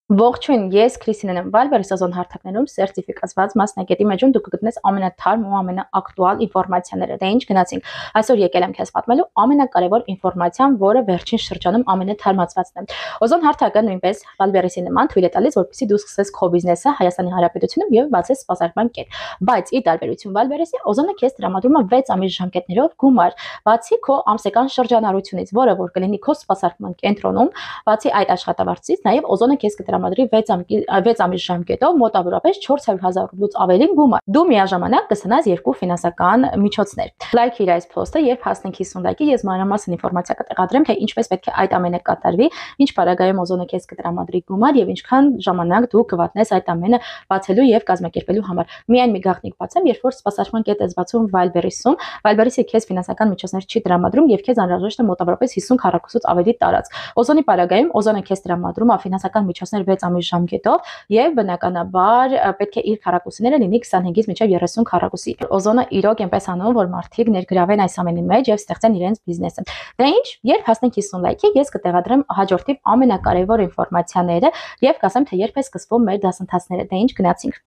Ողջույն, ես Քրիստինեն եմ, Վալբերի սեզոն հարթակներում սերտիֆիկացված մասնագետի մեջում դու կգտնես ամենաթարմ ու ամենաակտուալ ինֆորմացիաները։ Դե ինչ գնացինք։ Այսօր եկել եմ քեզ պատմելու ամենակարևոր ինֆորմացիան, որը վերջին շրջանում ամենաթարմացվածն է։ Օզոն հարթակը նույնպես Վալբերիսի նման թույլ է տալիս, որպեսզի դու սկսես քո բիզնեսը Հայաստանի Հանրապետությունում եւ բացես սպասարկման կետ։ Բայց ի տարբերություն Վալբերիսի, Օզոնը քեզ տրամադրում է 6 ամիս ժամկետներով գումար, բացի քո ամսական շրջանառությունից, որը որ կլինի քո սպասարկման կենտրոնում, բացի այդ աշխատավարձից, նաեւ Օզոնը քեզ կտրամադրի 6 ամիս ժամկետով մոտավորապես 400,000 ռուբլուց ավելի գումար։ Դու միաժամանակ կստանաս 2 ֆինանսական միջոցներ։ Լայք իր այս post-ը եւ հասնենք 50 լայքի, ես մանրամասն ինֆորմացիա կտեղադրեմ, թե ինչպես պետք է այդ ամենը կատարվի, ինչ պարագայում Օզոնը քեզ կտրամադրի գումար եւ ինչքան ժամանակ դու կվատնես այդ ամենը բացելու եւ կազմակերպելու համար։ Միայն մի գաղտնիք բացեմ, երբ որ սպասարկման կետ ես բացում Վալբերիսում, Վալբերիսը քեզ ֆինանսական միջոցներ չի տրամադրում եւ քեզ անհրաժեշտ է մոտավորապես 50 քառակուսուց ավելի տարածք։ Օզոնի պարագայում Օզոնը քեզ տրամադրում է ֆինանսական միջոցներ 6 ամիս ժամկետով եւ բնականաբար պետք է իր քառակուսիները լինի 25-ից մինչեւ 30 քառակուսի։ Օզոնը իրոք այնպես անում, որ մարդիկ ներգրավեն այս ամենի մեջ եւ ստեղծեն իրենց բիզնեսը։ Դե ինչ, երբ հասնենք 50 լայքի, ես կտեղադրեմ հաջորդիվ ամենակարևոր ինֆորմացիաները եւ կասեմ, թե երբ է սկսվում մեր դասընթացները։ Դե ինչ գնացինք։